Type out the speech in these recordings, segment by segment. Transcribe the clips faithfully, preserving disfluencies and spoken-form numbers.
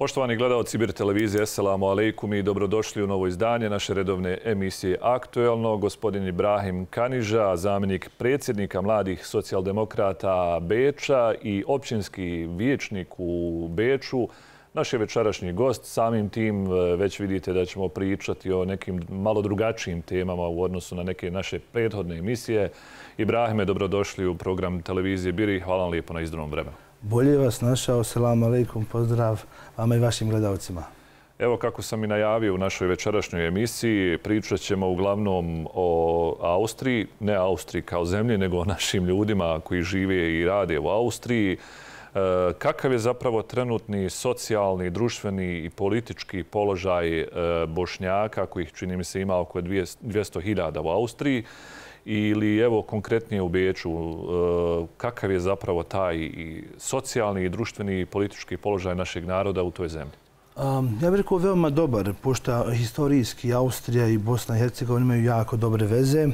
Poštovani gledalci Bir televizije, assalamu alaikum i dobrodošli u novo izdanje naše redovne emisije Aktuelno. Gospodin Ibrahim Kaniža, zamjenik predsjednika mladih socijaldemokrata Beča i općinski vijećnik u Beču, naš je večerašnji gost. Samim tim već vidite da ćemo pričati o nekim malo drugačijim temama u odnosu na neke naše prethodne emisije. Ibrahime, dobrodošli u program televizije Bir i hvala vam lijepo na izdravnom vremenu. Bolje vas našao, selamu alaikum, pozdrav vama i vašim gledalcima. Evo kako sam i najavio u našoj večerašnjoj emisiji, pričat ćemo uglavnom o Austriji, ne Austriji kao zemlji, nego o našim ljudima koji žive i rade u Austriji. Kakav je zapravo trenutni socijalni, društveni i politički položaj Bošnjaka, kojih čini mi se ima oko dvjesto hiljada u Austriji, ili evo konkretnije u Beču, kakav je zapravo taj socijalni, društveni i politički položaj našeg naroda u toj zemlji? Ja bih rekao veoma dobar, pošto historijski Austrija i Bosna i Hercegovina imaju jako dobre veze,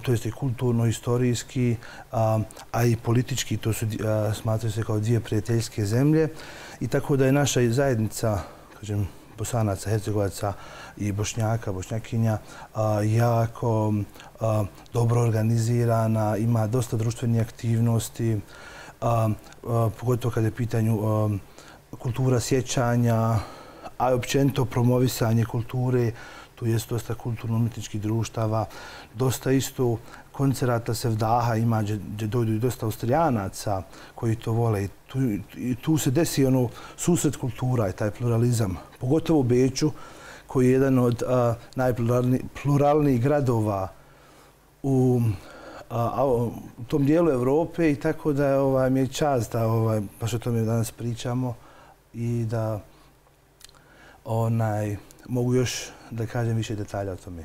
to jest i kulturno-historijski, a i politički, to su smatraju se kao dvije prijateljske zemlje. I tako da je naša zajednica, kažem, Bosanaca, Hercegovaca i Bošnjaka, Bošnjakinja jako dobro organizirana, ima dosta društvenih aktivnosti, pogotovo kada je pitanju kultura sjećanja, a općenito promovisanje kulture. Tu je dosta kulturno-umjetničkih društava, dosta isto koncerata Sevdaha ima, gdje dojdu i dosta Austrijanaca koji to vole. I tu se desi ono susret kultura i taj pluralizam, pogotovo u Beču, koji je jedan od najpluralnijih gradova u tom dijelu Evrope i tako da mi je čast da baš o tome danas pričamo i da mogu još da kažem više detalja o tome.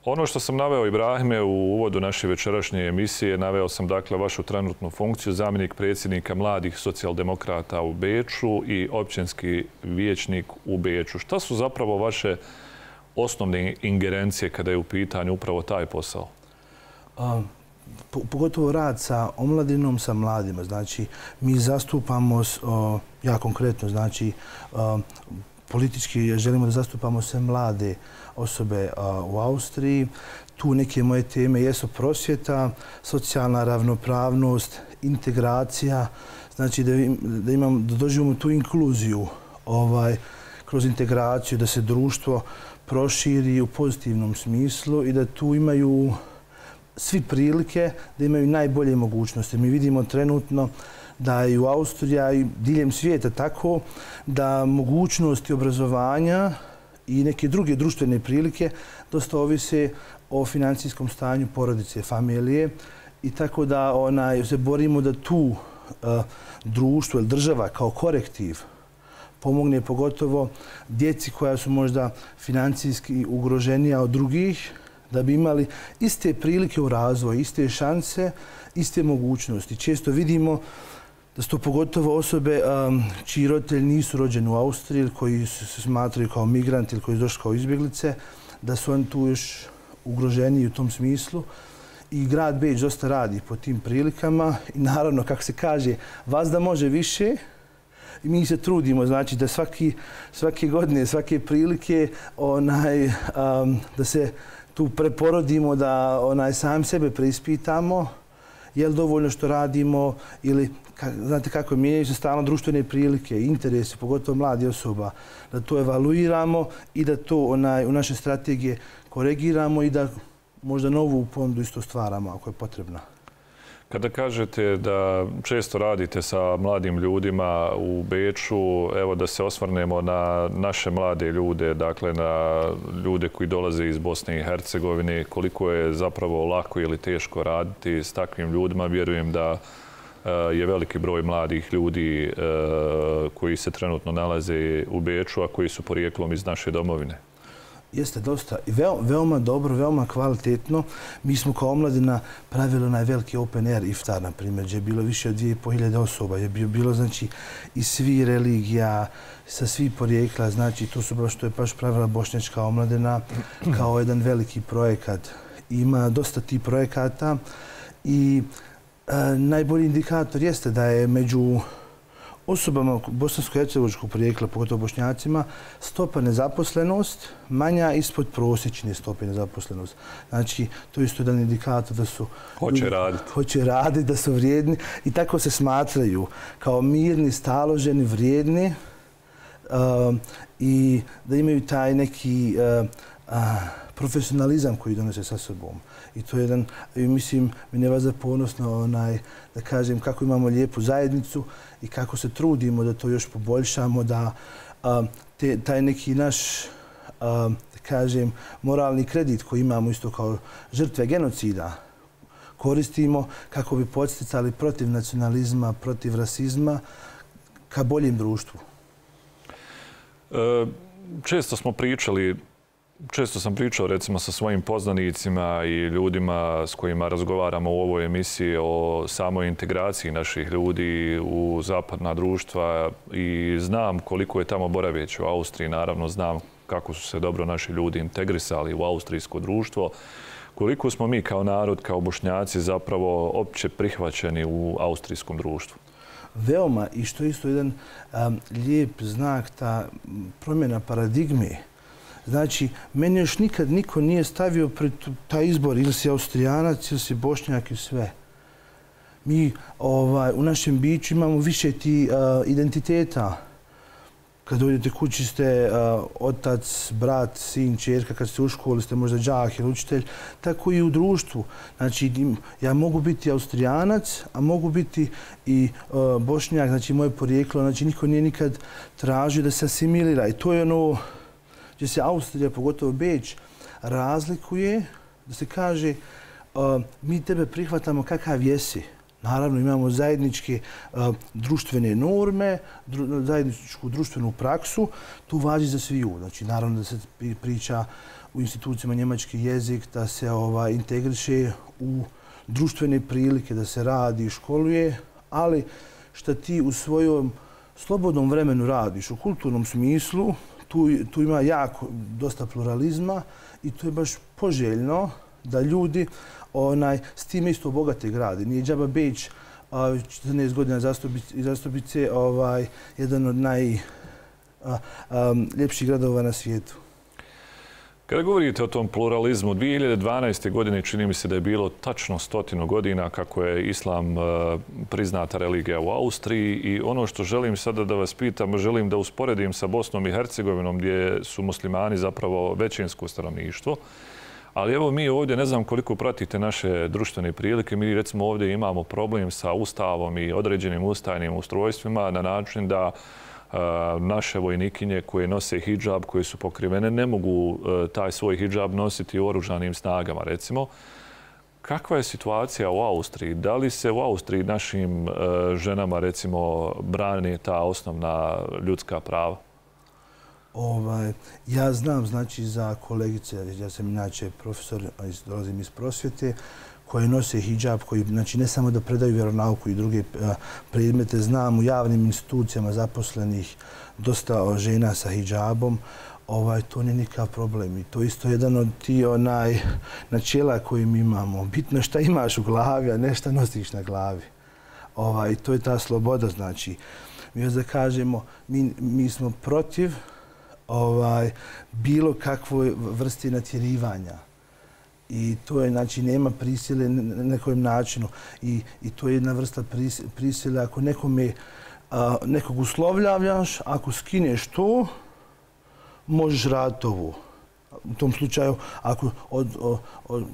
Ono što sam naveo, Ibrahime, u uvodu naše večerašnje emisije, naveo sam dakle vašu trenutnu funkciju, zamjenik predsjednika mladih socijaldemokrata u Beču i općinski vijećnik u Beču. Šta su zapravo vaše osnovne ingerencije kada je u pitanju upravo taj posao? Pogotovo rad sa omladinom, sa mladima. Znači, mi zastupamo, ja konkretno, znači, politički želimo da zastupamo sve mlade osobe u Austriji. Tu neke moje teme jesu prosvjeta, socijalna ravnopravnost, integracija, znači da imam, da doživimo tu inkluziju kroz integraciju, da se društvo proširi u pozitivnom smislu i da tu imaju svi prilike da imaju najbolje mogućnosti. Mi vidimo trenutno da i u Austriji i diljem svijeta tako da mogućnosti obrazovanja i neke druge društvene prilike dosta ovise o financijskom stanju porodice, familije i tako da se borimo da tu društvo ili država kao korektiv pomogne pogotovo djeci koja su možda financijski ugroženija od drugih, da bi imali iste prilike u razvoju, iste šanse, iste mogućnosti. Često vidimo da su to pogotovo osobe čiji roditelji nisu rođeni u Austriji ili koji se smatraju kao migranti ili koji su došli kao izbjeglice, da su oni tu još ugroženi u tom smislu. I grad Beč dosta radi po tim prilikama i naravno, kako se kaže, vazda može više i mi se trudimo, znači da svake godine, svake prilike da se tu preporodimo, da sami sebe preispitamo, je li dovoljno što radimo ili, znate kako, mijenjaju se stalno društvene prilike, interesi, pogotovo mladi osoba, da to evaluiramo i da to u naše strategije koregiramo i da možda novu ponudu isto stvaramo ako je potrebna. Kada kažete da često radite sa mladim ljudima u Beču, evo da se osvrnemo na naše mlade ljude, dakle na ljude koji dolaze iz Bosne i Hercegovine, koliko je zapravo lako ili teško raditi s takvim ljudima. Vjerujem da je veliki broj mladih ljudi koji se trenutno nalaze u Beču, a koji su porijeklom iz naše domovine. Jeste dosta i veoma dobro, veoma kvalitetno. Mi smo kao omladina pravili onaj veliki open air iftar, na primjer, gdje je bilo više od dvije i pol hiljade osoba. Je bilo, znači, iz svih religija, sa svih porijekla, znači, to su baš, to je baš pravila bošnjačka omladina kao jedan veliki projekat. Ima dosta tih projekata i najbolji indikator jeste da je među osobama bosansko-hercegovačkog porijekla, pogotovo Bošnjacima, stopa nezaposlenost manja ispod prosječne stope nezaposlenost. Znači, to je isto jedan indikator da su... Hoće raditi. Hoće raditi, da su vrijedni i tako se smatraju kao mirni, staloženi, vrijedni uh, i da imaju taj neki uh, uh, profesionalizam koji donose sa sobom. I to je jedan, mislim, mi je vas za ponosno, onaj, da kažem, kako imamo lijepu zajednicu i kako se trudimo da to još poboljšamo, da a, te, taj neki naš, a, da kažem, moralni kredit koji imamo isto kao žrtve genocida koristimo kako bi podsticali protiv nacionalizma, protiv rasizma ka boljem društvu. E, često smo pričali Često sam pričao recimo sa svojim poznanicima i ljudima s kojima razgovaramo u ovoj emisiji o samoj integraciji naših ljudi u zapadna društva i znam koliko je tamo boraveći u Austriji. Naravno znam kako su se dobro naši ljudi integrisali u austrijsko društvo. Koliko smo mi kao narod, kao Bošnjaci zapravo opće prihvaćeni u austrijskom društvu? Veoma, i što je isto jedan um, lijep znak, ta promjena paradigme. Znači, meni još nikad niko nije stavio pred taj izbor ili si Austrijanac ili si Bošnjak i sve. Mi ovaj, u našem biću imamo više ti uh, identiteta. Kad dođete kući ste uh, otac, brat, sin, čerka, kad ste u školi ste možda đak ili učitelj, tako i u društvu. Znači, ja mogu biti Austrijanac, a mogu biti i uh, Bošnjak, znači moje porijeklo, znači niko nije nikad tražio da se asimilira. I to je ono gdje se Austrija, pogotovo Beč, razlikuje, da se kaže uh, mi tebe prihvatamo kakav jesi. Naravno, imamo zajedničke uh, društvene norme, dru, zajedničku društvenu praksu, tu važi za sviju. Znači, naravno da se priča u institucijama njemački jezik, da se ovaj, integriše u društvene prilike, da se radi i školuje, ali što ti u svojom slobodnom vremenu radiš u kulturnom smislu, Tu, tu ima jako dosta pluralizma i to je baš poželjno da ljudi onaj, s time isto bogate grade. Nije džaba Beč četrnaest godina zastupice ovaj, jedan od najljepših gradova na svijetu. Kada govorite o tom pluralizmu, dvije hiljade dvanaeste. godine čini mi se da je bilo tačno stotinu godina kako je islam priznata religija u Austriji i ono što želim sada da vas pitam, želim da usporedim sa Bosnom i Hercegovinom gdje su muslimani zapravo većinsko stanovništvo. Ali evo mi ovdje, ne znam koliko pratite naše društvene prilike, mi recimo ovdje imamo problem sa ustavom i određenim ustavnim ustrojstvima na način da naše vojnikinje koje nose hidžab, koje su pokrivene, ne mogu taj svoj hidžab nositi u oružanim snagama, recimo. Kakva je situacija u Austriji? Da li se u Austriji našim ženama, recimo, brane ta osnovna ljudska prava? Ovaj, ja znam, znači, za kolegice, ja sam inače profesor, dolazim iz prosvjete, koje nose hidžab, koji znači, ne samo da predaju vjeronauku i druge predmete, znam u javnim institucijama zaposlenih dosta žena sa hidžabom, ovaj, to nije nikakav problem. I to isto jedan od ti onaj načela koji mi imamo. Bitno šta imaš u glavi, a ne šta nosiš na glavi. Ovaj, to je ta sloboda, znači. Mi još da kažemo, mi, mi smo protiv ovaj, bilo kakvoj vrsti natjerivanja. I to je, znači, nema prisile na nekom načinu. I, i to je jedna vrsta prisile. Ako nekome, a, nekog uslovljavljaš, ako skineš to, možeš raditi ovo. U tom slučaju, ako od, od, od,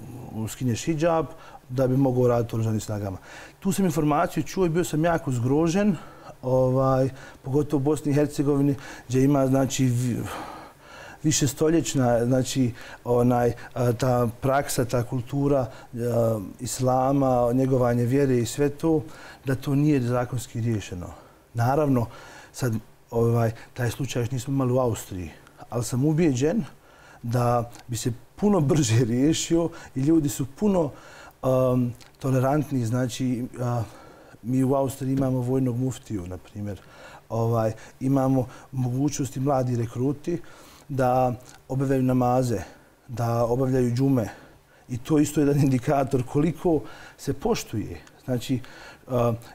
skineš hidžab, da bi mogao raditi u oružanim snagama. Tu sam informaciju čuo i bio sam jako zgrožen, ovaj, pogotovo u Bosni i Hercegovini, gdje ima, znači, više stoljećna, znači, onaj, ta praksa, ta kultura a, islama, njegovanje vjere i sve to, da to nije zakonski riješeno. Naravno, sad ovaj, taj slučaj još nismo imali u Austriji, ali sam ubijeđen da bi se puno brže riješio i ljudi su puno um, tolerantni. Znači, a, mi u Austriji imamo vojnog muftiju, na primjer. Ovaj, imamo mogućnosti mladi rekruti da obavljaju namaze, da obavljaju džume. I to isto je jedan indikator koliko se poštuje. Znači,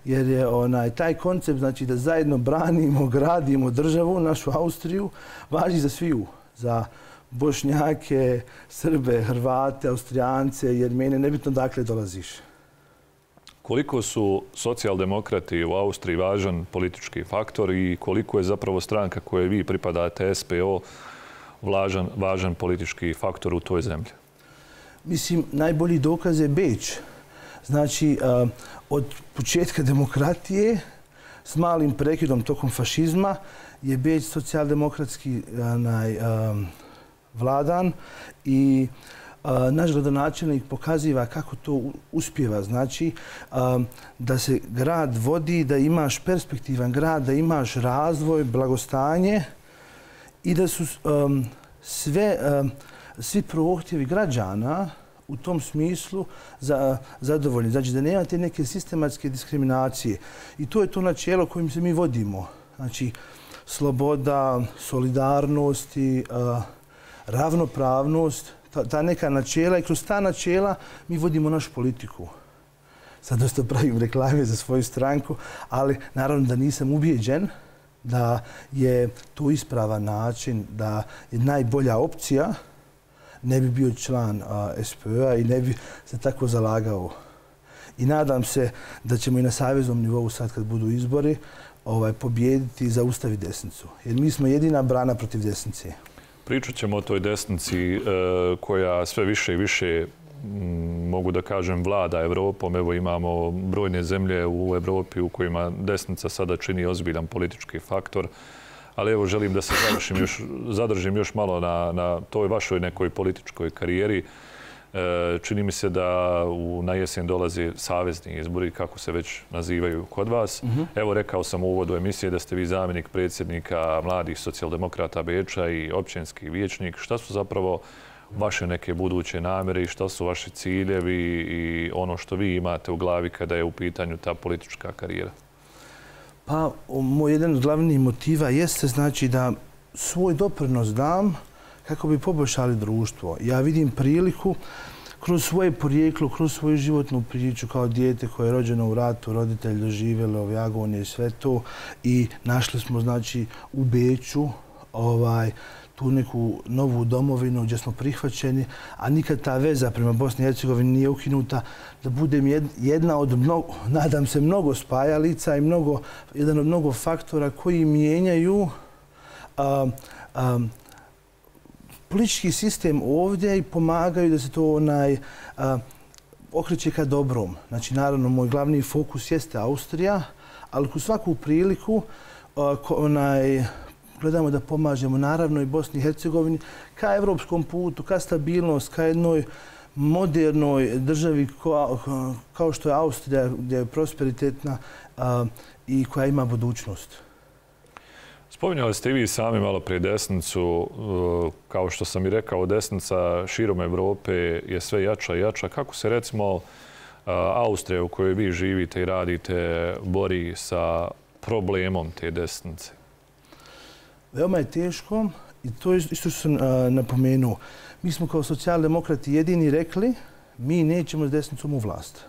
jer je onaj, taj koncept znači, da zajedno branimo, gradimo državu, našu Austriju, važi za sviju. Za Bošnjake, Srbe, Hrvate, Austrijance, Jermene, nebitno dakle dolaziš. Koliko su socijaldemokrati u Austriji važan politički faktor i koliko je zapravo stranka koje vi pripadate, S P O, važan, važan politički faktor u toj zemlji? Mislim, najbolji dokaz je Beč. Znači, od početka demokratije s malim prekidom tokom fašizma je Beč socijaldemokratski vladan i naš gradonačelnik pokaziva kako to uspjeva. Znači, da se grad vodi, da imaš perspektivan grad, da imaš razvoj, blagostanje i da su sve, svi prohtjevi građana u tom smislu za, zadovoljni. Znači da nema te neke sistematske diskriminacije. I to je to načelo kojim se mi vodimo. Znači, sloboda, solidarnost i uh, ravnopravnost, ta, ta neka načela i kroz ta načela mi vodimo našu politiku. Sad dosta pravim reklame za svoju stranku, ali naravno da nisam ubijeđen da je to ispravan način, da je najbolja opcija, ne bi bio član S P O-a i ne bi se tako zalagao. I nadam se da ćemo i na saveznom nivou sad kad budu izbori ovaj, pobijediti i zaustaviti desnicu. Jer mi smo jedina brana protiv desnice. Pričat ćemo o toj desnici koja sve više i više, mogu da kažem, vlada Evropom. Evo imamo brojne zemlje u Evropi u kojima desnica sada čini ozbiljan politički faktor. Ali evo želim da se zadržim još, zadržim još malo na, na toj vašoj nekoj političkoj karijeri. E, čini mi se da u, na jesen dolaze savezni izbori, kako se već nazivaju kod vas. Mm-hmm. Evo rekao sam u uvodu emisije da ste vi zamjenik predsjednika mladih socijaldemokrata Beča i općinski vijećnik. Šta su zapravo vaše neke buduće namjere i šta su vaši ciljevi i ono što vi imate u glavi kada je u pitanju ta politička karijera? Pa, moj jedan od glavnih motiva jeste znači da svoj doprinos dam kako bi poboljšali društvo. Ja vidim priliku kroz svoje porijeklo, kroz svoju životnu priču kao dijete koje je rođeno u ratu, roditelj doživjeli ove agonije i sve to i našli smo znači u Beču ovaj, tu neku novu domovinu gdje smo prihvaćeni, a nikad ta veza prema Bosni i Hercegovini nije ukinuta, da budem jedna od mnogo, nadam se, mnogo spajalica i mnogo, jedan od mnogo faktora koji mijenjaju a, a, politički sistem ovdje i pomagaju da se to onaj, a, okreće ka dobrom. Znači, naravno, moj glavni fokus jeste Austrija, ali u svaku priliku a, ko, onaj, gledamo da pomažemo naravno i Bosni i Hercegovini ka evropskom putu, ka stabilnost, ka jednoj modernoj državi kao što je Austrija, gdje je prosperitetna i koja ima budućnost. Spominjali ste i vi sami malo prije desnicu. Kao što sam i rekao, desnica širom Evrope je sve jača i jača. Kako se recimo Austrija u kojoj vi živite i radite bori sa problemom te desnice? Veoma je teško i to je isto što sam napomenuo. Mi smo kao socijaldemokrati jedini rekli mi nećemo s desnicom u vlast.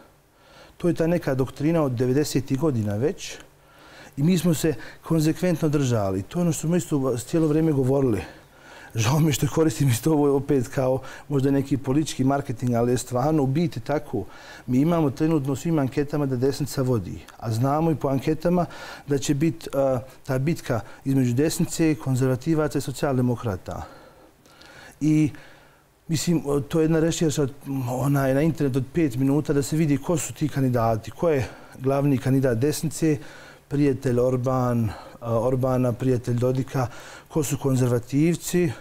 To je ta neka doktrina od devedesetih godina već i mi smo se konzekventno držali. To je ono što smo isto cijelo vrijeme govorili. Žao mi što koristim isto ovo opet kao možda neki politički marketing, ali je stvarno u biti tako. Mi imamo trenutno u svim anketama da desnica vodi, a znamo i po anketama da će biti uh, ta bitka između desnice, konzervativaca i socijaldemokrata. I mislim, to je jedna rešerša na internetu od pet minuta da se vidi ko su ti kandidati, ko je glavni kandidat desnice, prijatelj Orban, Orbana, prijatelj Dodika, ko su konzervativci,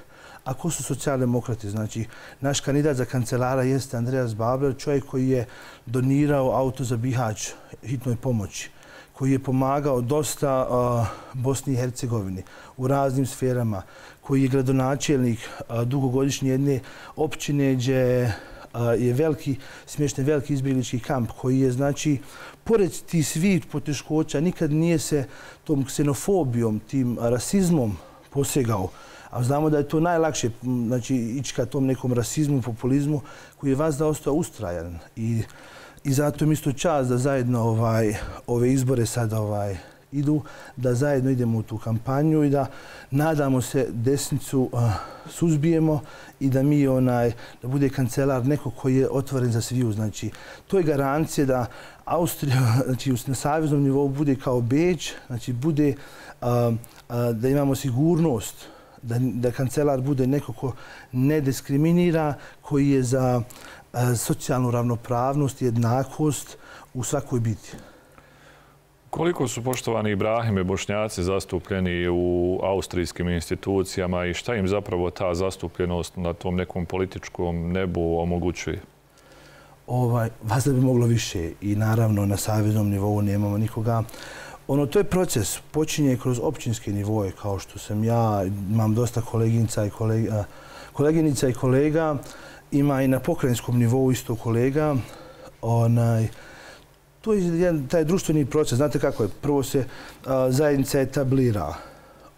a ko su socijaldemokrati. Znači, naš kandidat za kancelara jeste Andreas Babler, čovjek koji je donirao auto za Bihać hitnoj pomoći, koji je pomagao dosta uh, Bosni i Hercegovini u raznim sferama, koji je gradonačelnik uh, dugogodišnje jedne općine gdje je veliki, smješten veliki izbjeglički kamp koji je, znači, pored tih svih poteškoća, nikad nije se tom ksenofobijom, tim rasizmom posegao. A znamo da je to najlakše, znači, ići ka tom nekom rasizmu, populizmu, koji je vas da ostao ustrajan. I i zato mi isto čast da zajedno ovaj, ove izbore sad ovaj, idu, da zajedno idemo u tu kampanju i da nadamo se desnicu uh, suzbijemo i da mi onaj da bude kancelar neko koji je otvoren za sviju. Znači, to je garancija da Austrija, znači na saveznom nivou bude kao Beč, znači bude uh, uh, da imamo sigurnost, da, da kancelar bude neko ko ne diskriminira, koji je za uh, socijalnu ravnopravnost i jednakost u svakoj biti. Koliko su, poštovani Ibrahime, Bošnjaci zastupljeni u austrijskim institucijama i šta im zapravo ta zastupljenost na tom nekom političkom nebu omogućuje? Ovaj, vas da bi moglo više i naravno na saveznom nivou nemamo nikoga. Ono, to je proces, počinje kroz općinske nivoje, kao što sam ja, imam dosta koleginica i kolega, koleginica i kolega, ima i na pokrajinskom nivou isto kolega. Onaj, to je jedan, taj društveni proces. Znate kako je? Prvo se a, zajednica etablira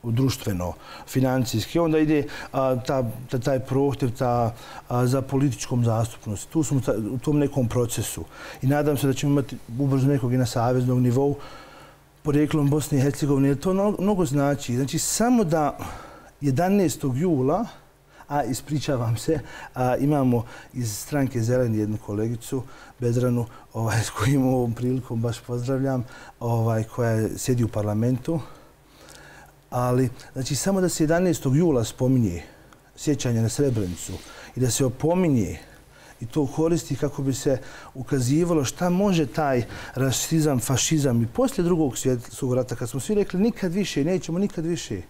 u društveno, financijski. Onda ide a, ta, ta, taj prohtjev ta, a, za političkom zastupnosti. Tu smo ta, u tom nekom procesu. I nadam se da ćemo imati ubrzo nekog i na saveznom nivou porijeklom Bosne i Hercegovine. To no, mnogo znači. Znači, samo da jedanaestog jula, a ispričavam se, a, imamo iz stranke Zeleni jednu kolegicu, Bedranu, ovaj, s kojim ovom prilikom baš pozdravljam, ovaj, koja sjedi u parlamentu. Ali, znači, samo da se jedanaestog jula spominje sjećanje na Srebrenicu i da se opominje i to koristi kako bi se ukazivalo šta može taj rasizam, fašizam i poslije drugog svjetskog rata, kad smo svi rekli nikad više, nećemo nikad više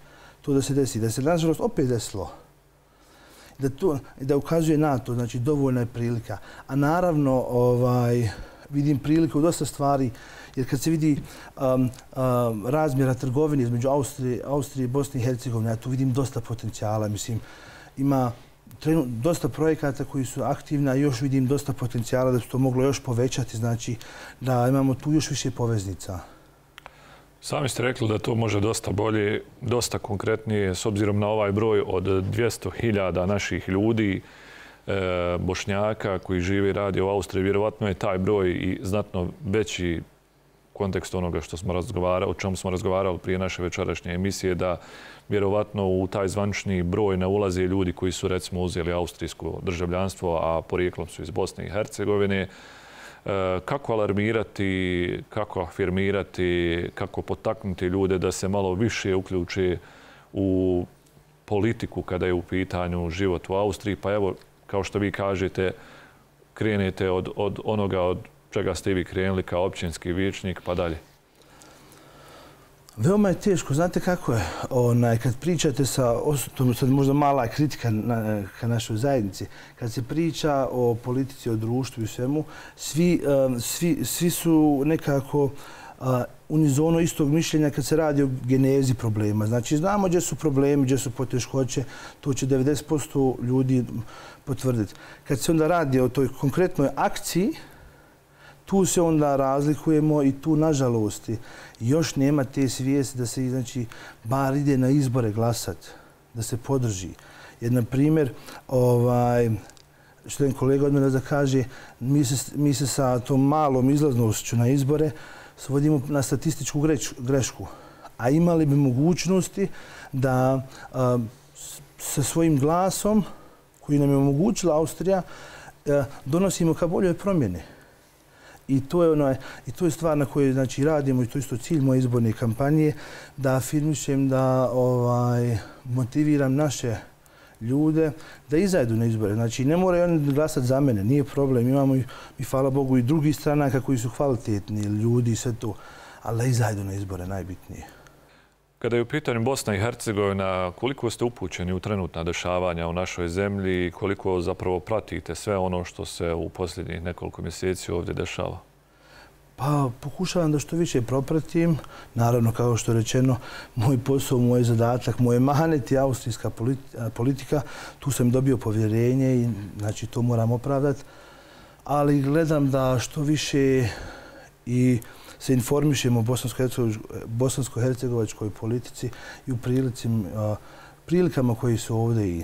to da se desi, da se nažalost opet desilo. Da, to, da ukazuje na to, znači dovoljna je prilika. A naravno ovaj, vidim priliku u dosta stvari, jer kad se vidi um, um, razmjera trgovine između Austrije, Austrije i Bosne i Hercegovine, ja tu vidim dosta potencijala. Mislim, ima trenu, dosta projekata koji su aktivni, a još vidim dosta potencijala da se to moglo još povećati, znači da imamo tu još više poveznica. Sami ste rekli da to može dosta bolje, dosta konkretnije, s obzirom na ovaj broj od dvjesto hiljada naših ljudi, e, Bošnjaka koji žive i radi u Austriji. Vjerovatno je taj broj i znatno veći kontekst onoga što smo razgovarali, o čemu smo razgovarali prije naše večerašnje emisije, da vjerovatno u taj zvanični broj ne ulaze ljudi koji su recimo uzeli austrijsko državljanstvo, a porijeklom su iz Bosne i Hercegovine. Kako alarmirati, kako afirmirati, kako potaknuti ljude da se malo više uključe u politiku kada je u pitanju život u Austriji. Pa evo, kao što vi kažete, krenete od, od onoga od čega ste vi krenuli kao općinski vijećnik pa dalje. Veoma je teško. Znate kako je? Onaj, kad pričate sa, to sad možda mala kritika na, ka našoj zajednici, kad se priča o politici, o društvu i svemu, svi, um, svi, svi su nekako uh, unizono istog mišljenja kad se radi o genezi problema. Znači, znamo gdje su problemi, gdje su poteškoće, to će devedeset posto ljudi potvrditi. Kad se onda radi o toj konkretnoj akciji, tu se onda razlikujemo i tu, nažalost, još nema te svijesti da se, znači, bar ide na izbore glasat, da se podrži. Jer, na primjer, ovaj, što jedan kolega od mene da kaže, mi se, mi se sa tom malom izlaznošću na izbore svodimo na statističku grešku. A imali bi mogućnosti da a, sa svojim glasom, koji nam je omogućila Austrija, a, donosimo ka boljoj promjene. I to je ono, i to je stvar na kojoj znači radimo i to je isto cilj moje izborne kampanje, da afirmišem, da ovaj motiviram naše ljude da izađu na izbore. Znači ne moraju oni glasati za mene, nije problem. Imamo i, i hvala Bogu i drugih stranaka koji su kvalitetni ljudi i sve to, ali da izađu na izbore najbitnije. Kada je u pitanju Bosna i Hercegovina, koliko ste upućeni u trenutna dešavanja u našoj zemlji i koliko zapravo pratite sve ono što se u posljednjih nekoliko mjeseci ovdje dešava? Pa pokušavam da što više propratim. Naravno, kao što je rečeno, moj posao, moj zadatak, moje manet je austrijska politika. Tu sam dobio povjerenje i znači to moram opravdati. Ali gledam da što više i se informišemo o bosansko-hercegovačkoj politici i u prilikama koji su ovdje i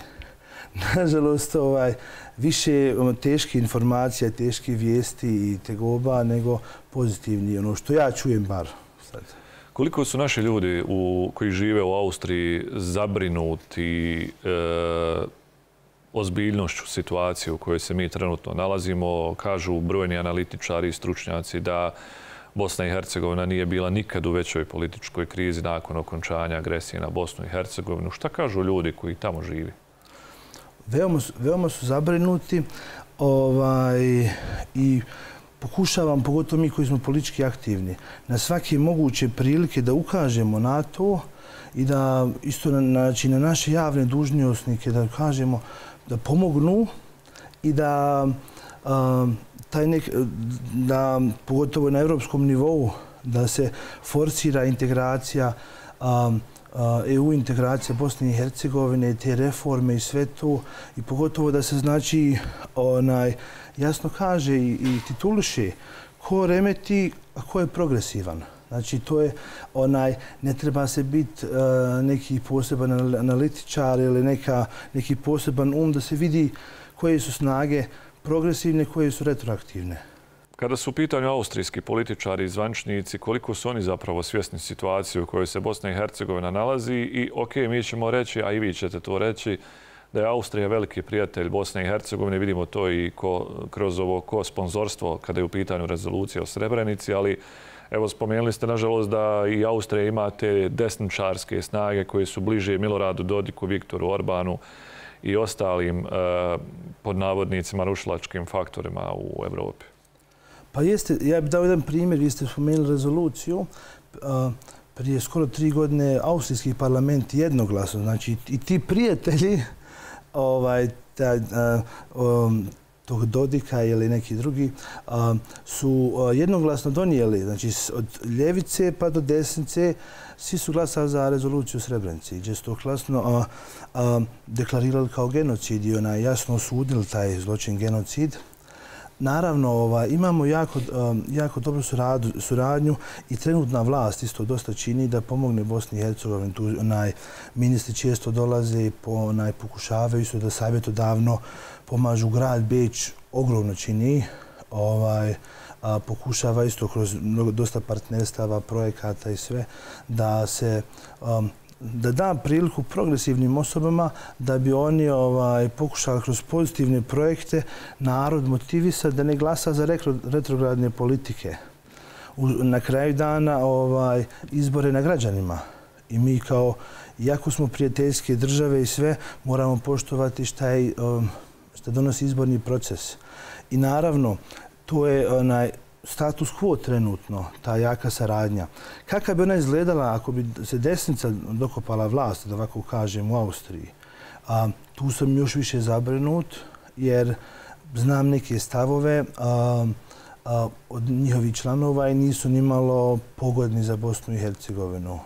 nažalost, ovaj, više teške informacije, teške vijesti i tegoba nego pozitivni, ono što ja čujem bar sad. Koliko su naši ljudi u, koji žive u Austriji zabrinuti e, ozbiljnošću situacije u kojoj se mi trenutno nalazimo? Kažu brojni analitičari i stručnjaci da Bosna i Hercegovina nije bila nikad u većoj političkoj krizi nakon okončanja agresije na Bosnu i Hercegovinu. Šta kažu ljudi koji tamo živi? Veoma su, veoma su zabrinuti ovaj, i pokušavam, pogotovo mi koji smo politički aktivni, na svake moguće prilike da ukažemo na to i da isto na, znači, na naše javne dužnosnike da kažemo da pomognu i da um, taj nek, da pogotovo na evropskom nivou da se forsira integracija um, E U integracija Bosne i Hercegovine, te reforme i sve to i pogotovo da se znači onaj jasno kaže i, i tituliše ko remeti, a ko je progresivan. Znači to je onaj ne treba se biti uh, neki poseban analitičar ili neka neki poseban um da se vidi koje su snage progresivne, koje su retroaktivne. Kada su u pitanju austrijski političari i zvančnici, koliko su oni zapravo svjesni situacije u kojoj se Bosna i Hercegovina nalazi i ok, mi ćemo reći, a i vi ćete to reći, da je Austrija veliki prijatelj Bosne i Hercegovine. Vidimo to i ko, kroz ovo ko sponzorstvo kada je u pitanju rezolucija o Srebrenici, ali evo spomenuli ste nažalost da i Austrija ima te desničarske snage koje su bliže Miloradu Dodiku, Viktoru Orbanu i ostalim eh, pod navodnicima rušilačkim faktorima u Evropi. Pa jeste, ja bih dao jedan primjer, vi ste spomenuli rezoluciju. Prije skoro tri godine austrijski parlament jednoglasno, znači i ti prijatelji ovaj, taj, um, tog Dodika ili neki drugi um, su jednoglasno donijeli, znači od ljevice pa do desnice, svi su glasali za rezoluciju u Srebrenici, gdje su to glasno uh, uh, deklarirali kao genocid i ona jasno osudili taj zločin genocid. Naravno, ovaj, imamo jako, um, jako dobru suradu, suradnju i trenutna vlast isto dosta čini da pomogne Bosni i Hercegovini. Tu onaj, ministri često dolaze i po, onaj, pokušavaju isto da savjetodavno pomažu. Grad Beč ogromno čini. Ovaj, a, pokušava isto kroz mnogo, dosta partnerstava, projekata i sve da se um, da da priliku progresivnim osobama da bi oni ovaj, pokušali kroz pozitivne projekte narod motivisati da ne glasa za retrogradne politike. U, na kraju dana ovaj, izbore na građanima. I mi kao, iako smo prijateljske države i sve, moramo poštovati šta, je, um, šta donosi izborni proces. I naravno, to je onaj, status quo trenutno, ta jaka saradnja. Kako bi ona izgledala ako bi se desnica dokopala vlast, da ovako kažem, u Austriji? A, tu sam još više zabrinut jer znam neke stavove a, a, od njihovih članova i nisu nimalo pogodni za Bosnu i Hercegovinu.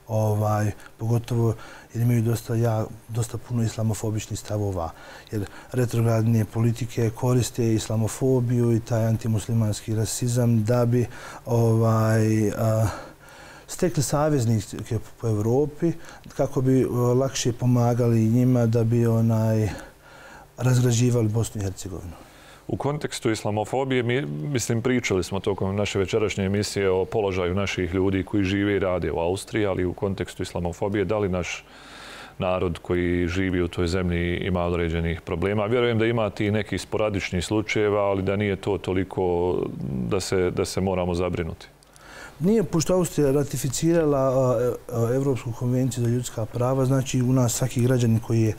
Ovaj, pogotovo jer imaju dosta, ja, dosta puno islamofobičnih stavova. Jer retrogradne politike koriste islamofobiju i taj antimuslimanski rasizam da bi ovaj, a, stekli saveznike po Evropi kako bi lakše pomagali njima da bi onaj, razgrađivali Bosnu i Hercegovinu. U kontekstu islamofobije, mi, mislim, pričali smo tokom naše večerašnje emisije o položaju naših ljudi koji žive i rade u Austriji, ali u kontekstu islamofobije, da li naš narod koji živi u toj zemlji ima određenih problema? Vjerujem da ima ti neki sporadični slučajeva, ali da nije to toliko da se, da se moramo zabrinuti. Nije, pošto Austrija ratificirala Evropsku konvenciju za ljudska prava, znači u nas svaki građanin koji je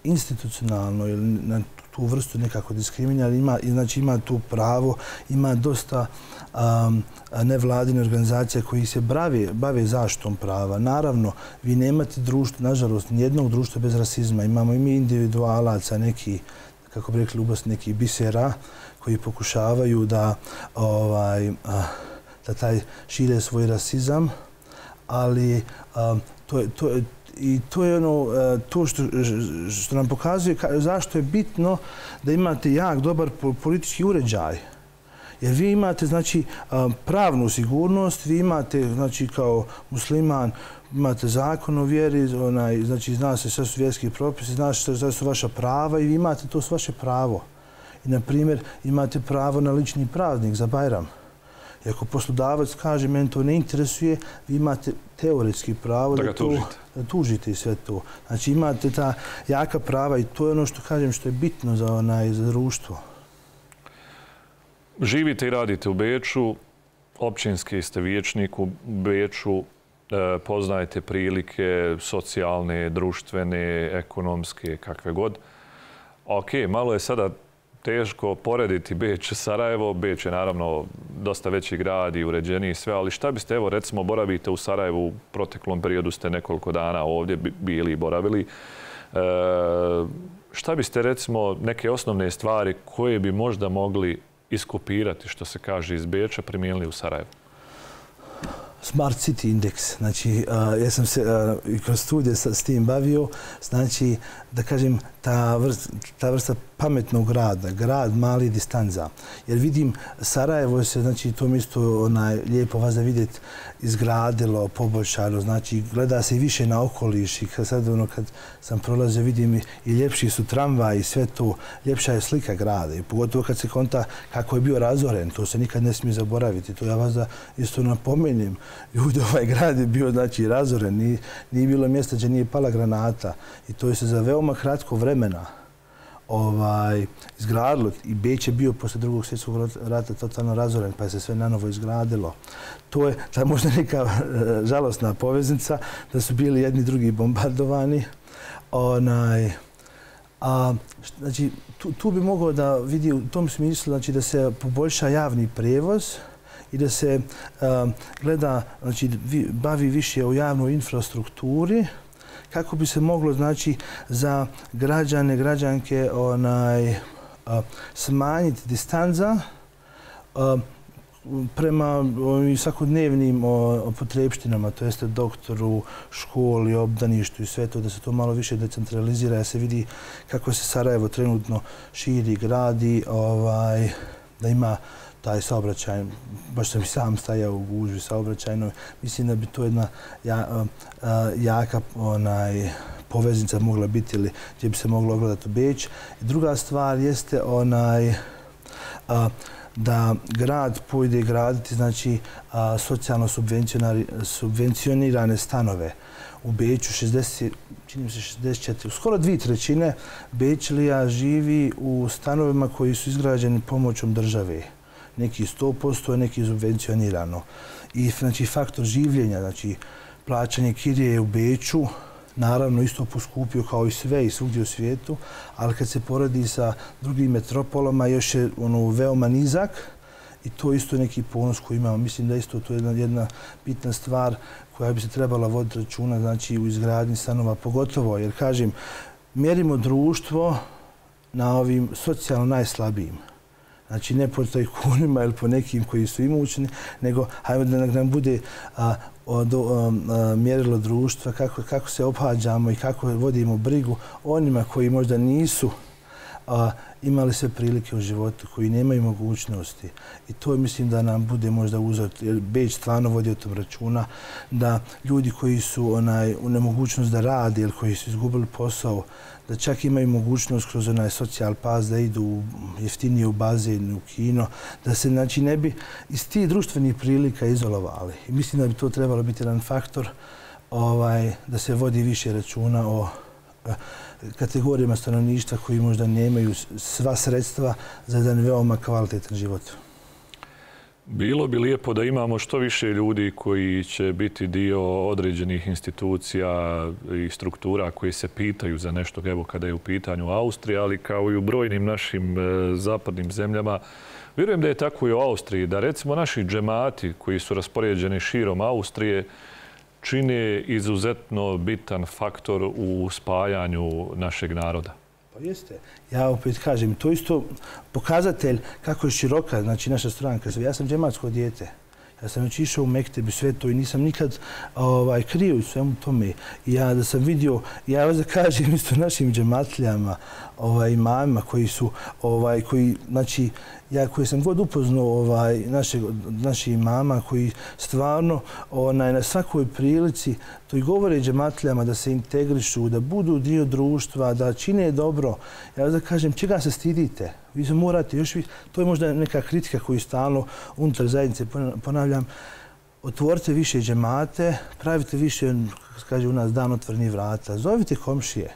institucionalno ili na tu vrstu nekako diskriminira, ima, znači ima tu pravo, ima dosta um, nevladine organizacije koji se bave, bave zaštitom prava. Naravno, vi nemate društvo, nažalost, nijednog društva bez rasizma. Imamo i mi individualaca, neki, kako bi rekli u Bosni, neki bisera koji pokušavaju da, ovaj, da taj šire svoj rasizam, ali um, to je, to je I to je ono, to što, što nam pokazuje zašto je bitno da imate jak, dobar politički uređaj. Jer vi imate, znači, pravnu sigurnost, vi imate, znači, kao musliman, imate zakon o vjeri, onaj, znači, zna se sve su vjerski propisi, zna se sve su vaša prava i vi imate to su vaše pravo. I, na primjer, imate pravo na lični praznik za Bajram. I ako poslodavac kaže, meni to ne interesuje, vi imate teoretski pravo da, da, to, da tužite i sve to. Znači, imate ta jaka prava i to je ono što kažem što je bitno za, onaj, za društvo. Živite i radite u Beču, općinski ste vijećnik u Beču, poznajete prilike socijalne, društvene, ekonomske, kakve god. Ok, malo je sada teško porediti Beč i Sarajevo. Beč je naravno dosta veći grad i uređeniji i sve, ali šta biste, evo recimo, boravite u Sarajevu, u proteklom periodu ste nekoliko dana ovdje bili i boravili. E, šta biste recimo neke osnovne stvari koje bi možda mogli iskopirati, što se kaže, iz Beča, primijenili u Sarajevu? Smart City Index. Znači, ja sam se i kroz studije s tim bavio. Znači, da kažem, ta vrsta, ta vrsta pametnog grada, grad mali distanca. Jer vidim, Sarajevo se, znači, to mjesto onaj, lijepo vas da vidjeti, izgradilo, poboljšano. Znači, gleda se i više na okoliš. I kad, sad, ono, kad sam prolazio, vidim i ljepši su tramvaj i sve to. Ljepša je slika grada. I pogotovo kad se konta kako je bio razoren. To se nikad ne smije zaboraviti. To ja vas da isto napomenem. Ljudi, ovaj grad je bio, znači, razoren. Nije, nije bilo mjesta gdje nije pala granata. I to je se za veoma kratko vremena ovaj, izgradilo. I Beč je bio posle drugog svjetskog rata totalno razoren, pa je se sve nanovo izgradilo. To je ta možda neka žalosna poveznica, da su bili jedni drugi bombardovani. Onaj, a, znači, tu, tu bi mogao da vidi u tom smislu, znači, da se poboljša javni prijevoz i da se a, gleda, znači, vi, bavi više o javnoj infrastrukturi, kako bi se moglo, znači, za građane, građanke onaj, a, smanjiti distanca a, prema svakodnevnim potrebštinama, to jeste doktoru, školi, obdaništu i sve to, da se to malo više decentralizira, da se vidi kako se Sarajevo trenutno širi, gradi, ovaj, da ima taj saobraćaj, baš sam i sam stajao u gužvi saobraćajnoj. Mislim da bi to jedna ja, a, jaka onaj, poveznica mogla biti ili gdje bi se moglo ogledati u Beč. I druga stvar jeste onaj, a, da grad pojde graditi, znači, a, socijalno subvencionirane stanove. U Beču šezdeset, čini mi se šezdeset četiri, skoro dvije trećine Bečlija živi u stanovima koji su izgrađeni pomoćom države. Neki sto posto, neki subvencionirano. I, znači, faktor življenja, znači, plaćanje kirije u Beču, naravno isto poskupio kao i sve i svugdje u svijetu, ali kad se poradi sa drugim metropolama još je ono veoma nizak i to isto neki ponos koji imamo. Mislim da isto to je jedna, jedna bitna stvar koja bi se trebala voditi računa, znači, u izgradnji stanova, pogotovo, jer, kažem, mjerimo društvo na ovim socijalno najslabijim. Znači, ne po tajkunima ili po nekim koji su imućni, nego hajmo da nam bude a, od, a, a, mjerilo društva, kako, kako se obhađamo i kako vodimo brigu onima koji možda nisu a, imali sve prilike u životu, koji nemaju mogućnosti. I to mislim da nam bude možda uzor, jer Beč stvarno vodi o tom računa, da ljudi koji su onaj, u nemogućnost da rade ili koji su izgubili posao, da čak imaju mogućnost kroz onaj socijal pas da idu jeftinije u bazen, u kino, da se, znači, ne bi iz tih društvenih prilika izolovali. I mislim da bi to trebalo biti jedan faktor ovaj, da se vodi više računa o kategorijama stanovništva koji možda nemaju sva sredstva za jedan veoma kvalitetan život. Bilo bi lijepo da imamo što više ljudi koji će biti dio određenih institucija i struktura koji se pitaju za nešto, evo kada je u pitanju Austrija, ali kao i u brojnim našim zapadnim zemljama. Vjerujem da je tako i u Austriji, da recimo naši džemati koji su raspoređeni širom Austrije čine izuzetno bitan faktor u spajanju našeg naroda. Pa jeste. Ja opet kažem, to isto pokazatelj kako je široka, znači, naša stranka. Ja sam džematsko dijete. Ja sam već išao u Mektebi sve to i nisam nikad ovaj, krio u svemu tome. I ja da sam vidio, ja vas da kažem isto našim džematlijama, ovaj, imamima koji su, ovaj, koji, znači, ja koji sam god upoznao ovaj, naše, naši imama koji stvarno onaj, na svakoj prilici to i govore džematlijama da se integrišu, da budu dio društva, da čine dobro. Ja vas da kažem, čega se stidite? Vi se morate još vi, to je možda neka kritika koju stalno unutar zajednice ponavljam. Otvorite više džemate, pravite više, kaže u nas, dan otvorenih vrata. Zovite komšije.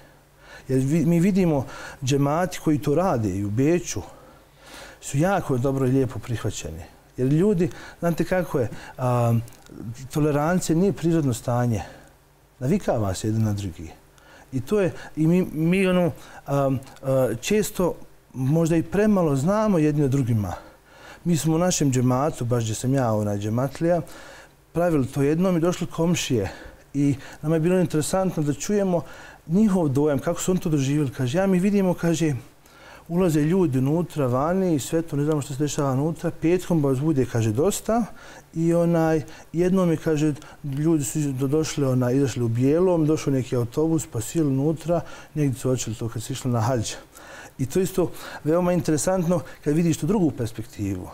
Jer mi vidimo džemati koji to rade i u Beču su jako dobro i lijepo prihvaćeni. Jer ljudi, znate kako je, a, tolerancija nije prirodno stanje. Navikava se jedan na drugi. I to je, i mi, mi ono, a, a, često možda i premalo znamo jedni od drugima. Mi smo u našem džematu, baš gdje sam ja, onaj džematlija, pravili to jednom i došli komšije. I nama je bilo interesantno da čujemo njihov dojam, kako su on to doživjeli. Kaže, ja mi vidimo, kaže, ulaze ljudi unutra, vani i sve to, ne znamo što se dešava unutra. Petkom vas bude, kaže, dosta. I onaj, jednom je, kaže, ljudi su došli, onaj, izašli u bijelom, došao neki autobus, pa sili unutra, negdje su očeli to kad su išli na hađ. I to isto veoma interesantno kad vidiš tu drugu perspektivu.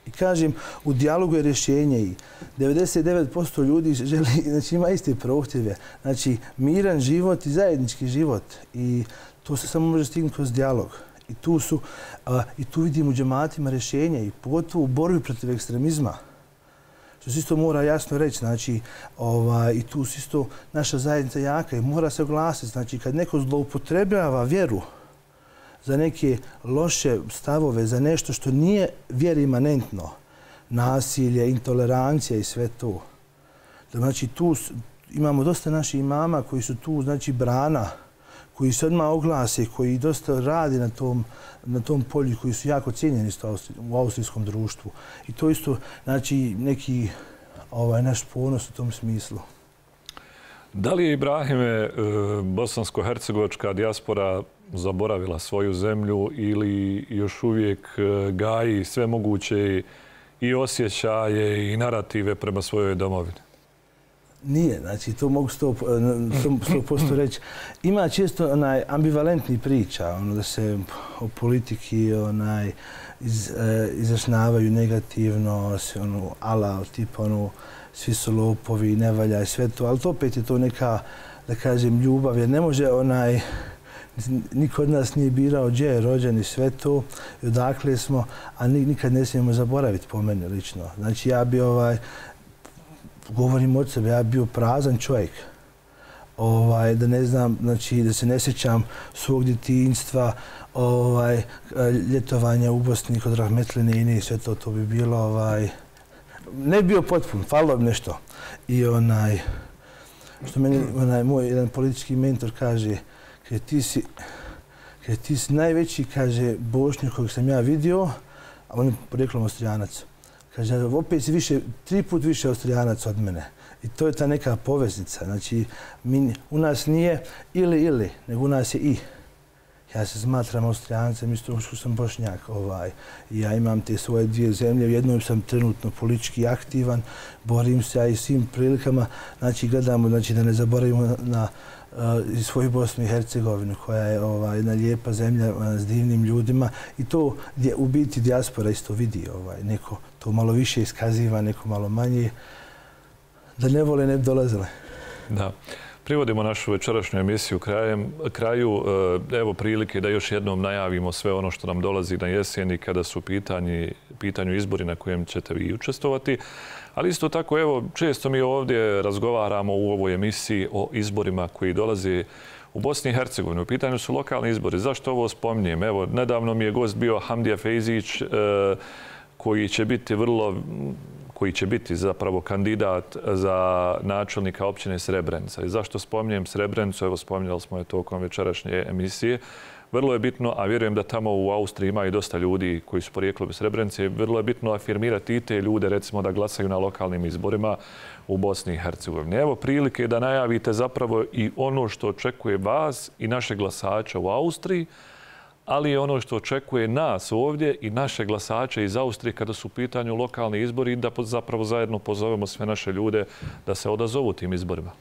I kažem, u dijalogu je rješenje i devedeset devet posto ljudi želi, znači ima iste prohtjeve. Znači, miran život i zajednički život. I to se samo može stignuti kroz dijalog. I tu, su, a, i tu vidimo u džematima rješenje i pogotovo u borbi protiv ekstremizma. Što se isto mora jasno reći, znači, ovaj, i tu se isto naša zajednica jaka i mora se oglasiti. Znači, kad neko zloupotrebljava vjeru za neke loše stavove, za nešto što nije vjeri imanentno, nasilje, intolerancija i sve to. Znači, tu imamo dosta naših imama koji su tu, znači, brana, koji se odmah oglase, koji dosta radi na tom, na tom polju, koji su jako cijenjeni u austrijskom društvu. I to isto, znači, neki ovaj, naš ponos u tom smislu. Da li je, Ibrahime, bosansko-hercegovačka dijaspora zaboravila svoju zemlju ili još uvijek gaji sve moguće i osjećaje i narative prema svojoj domovini? Nije, znači to mogu sto posto reći. Ima često onaj ambivalentni priča, ono da se o politiki onaj iz, e, izrašnjavaju negativno, ono ala, tipa ono svi su lopovi, ne valja i sve to, ali to opet je to neka, da kažem, ljubav, jer ne može onaj, niko od nas nije birao gdje je rođen i sve to, i odakle smo, a nikad ne smijemo zaboraviti po mene lično. Znači ja bi ovaj, govorim od sebe, ja bio prazan čovjek. Ovaj, da ne znam, znači da se ne sjećam svog djetinjstva, ovaj, ljetovanja u Bosni kod Rahmetline i sve to, to bi bilo, ovaj, ne bi bio potpun, falilo bi nešto. I onaj, što meni onaj, moj jedan politički mentor kaže, kaže ti si, kaže, ti si najveći, kaže, Bošnjak kojeg sam ja vidio, a on je poreklom Austrijanac. Kaže, opet si više, tri put više Austrijanac od mene. I to je ta neka poveznica. Znači, mi, u nas nije ili ili, nego u nas je i. Ja se smatram Austrijancem, isto što sam Bošnjak. Ovaj. Ja imam te svoje dvije zemlje, u jednom sam trenutno politički aktivan, borim se ja i svim prilikama. Znači, gledamo znači, da ne zaboravimo na, na uh, svoju Bosnu i Hercegovinu, koja je ovaj, jedna lijepa zemlja uh, s divnim ljudima. I to gdje u biti dijaspora isto vidi. Ovaj. Neko to malo više iskaziva, neko malo manje. Da ne vole, ne bi dolazile. Da. Privodimo našu večerašnju emisiju krajem, kraju. Evo prilike da još jednom najavimo sve ono što nam dolazi na jeseni kada su pitanji, pitanju izbori na kojem ćete vi učestvovati. Ali isto tako, evo, često mi ovdje razgovaramo u ovoj emisiji o izborima koji dolaze u Bosni i Hercegovini. U pitanju su lokalni izbori. Zašto ovo spominjem? Evo, nedavno mi je gost bio Hamdija Fejzić, koji će biti vrlo koji će biti zapravo kandidat za načelnika općine Srebrenica. I zašto spominjem Srebrenicu? Evo, spominjali smo je tokom večerašnje emisije. Vrlo je bitno, a vjerujem da tamo u Austriji ima i dosta ljudi koji su porijekli iz Srebrenice, vrlo je bitno afirmirati i te ljude, recimo, da glasaju na lokalnim izborima u Bosni i Hercegovini. Evo prilike da najavite zapravo i ono što očekuje vas i naše glasača u Austriji, ali je ono što očekuje nas ovdje i naše glasače iz Austrije kada su u pitanju lokalni izbori i da zapravo zajedno pozovemo sve naše ljude da se odazovu tim izborima.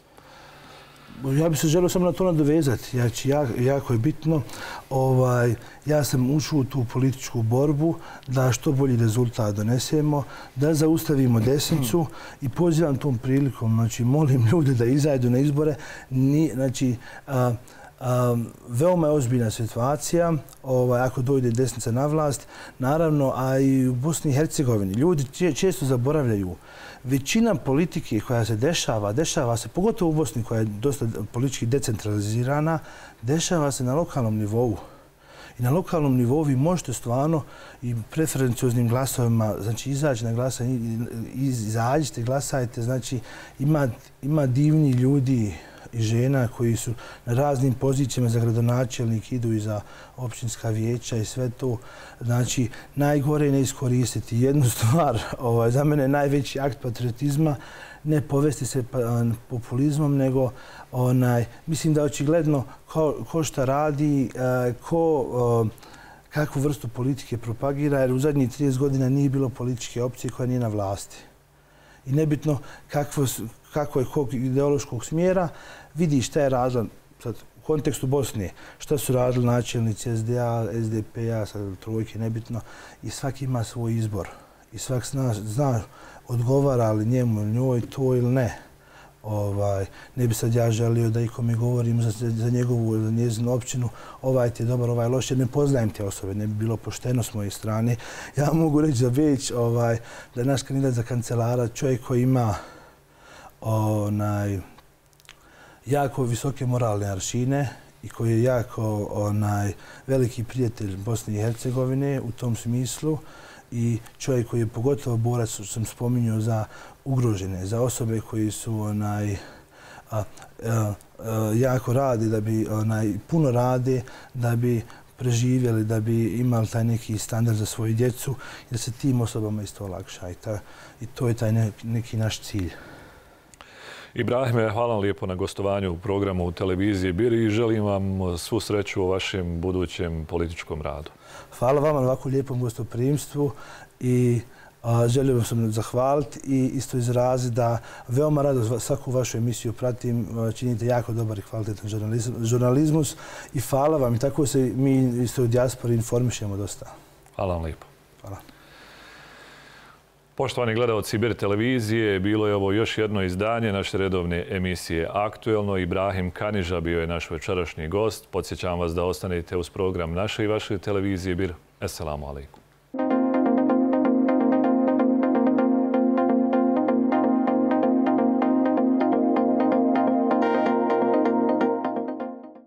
Ja bih se želio samo na to nadovezati. Znači, jako je bitno. Ovaj, ja sam ušao u tu političku borbu da što bolji rezultat donesemo, da zaustavimo desnicu i pozivam tom prilikom, znači, molim ljude da izađu na izbore. Ni, znači, a, a, veoma je ozbiljna situacija ovaj, ako dojde desnica na vlast. Naravno, a i u Bosni i Hercegovini. Ljudi često zaboravljaju. Većina politike koja se dešava, dešava se, pogotovo u Bosni koja je dosta politički decentralizirana, dešava se na lokalnom nivou. I na lokalnom nivou vi možete stvarno i preferencioznim glasovima, znači izaći na glasanje, izađite, glasajte, znači ima, ima divni ljudi i žena koji su na raznim pozicijama za gradonačelnik, idu i za općinska vijeća i sve to. Znači, najgore je ne iskoristiti jednu stvar. Ovaj, za mene je najveći akt patriotizma ne povesti se populizmom, nego onaj, mislim da očigledno ko, ko šta radi, ko kakvu vrstu politike propagira, jer u zadnjih trideset godina nije bilo političke opcije koja nije na vlasti. I nebitno kakvo, kako je kog ideološkog smjera, vidi šta je radila sad, u kontekstu Bosne, šta su radili načelnici S D A, S D P-a, trojke, nebitno, i svaki ima svoj izbor. I svak zna, zna odgovara li njemu ili njoj to ili ne. Ovaj, ne bi sad ja želio da ikome govorim za, za njegovu ili njezinu općinu, ovaj ti je dobar, ovaj loš, jer ne poznajem te osobe, ne bi bilo pošteno s moje strane. Ja mogu reći za Beć ovaj, da je naš kandidat za kancelara čovjek koji ima onaj, jako visoke moralne aršine i koji je jako onaj, veliki prijatelj Bosne i Hercegovine u tom smislu i čovjek koji je pogotovo borac, što sam spominjao, za ugrožene, za osobe koji su onaj, a, a, a, jako rade, da bi onaj, puno rade, da bi preživjeli, da bi imali taj neki standard za svoju djecu i da se tim osobama isto olakša. I, ta, i to je taj ne, neki naš cilj. Ibrahime, hvala vam lijepo na gostovanju u programu u televiziji Bir i želim vam svu sreću u vašem budućem političkom radu. Hvala vam na ovako lijepom gostoprimstvu i a, želim vam zahvaliti i isto izraziti da veoma rado svaku vašu emisiju pratim, činite jako dobar i kvalitetan žurnalizmus i hvala vam i tako se mi isto u dijaspori informišemo dosta. Hvala vam lijepo. Hvala. Poštovani gledalci Bir televizije, bilo je ovo još jedno izdanje naše redovne emisije Aktuelno. Ibrahim Kaniža bio je naš večerašnji gost. Podsjećam vas da ostanete uz program naše i vaše televizije Bir. Esselamu alaikum.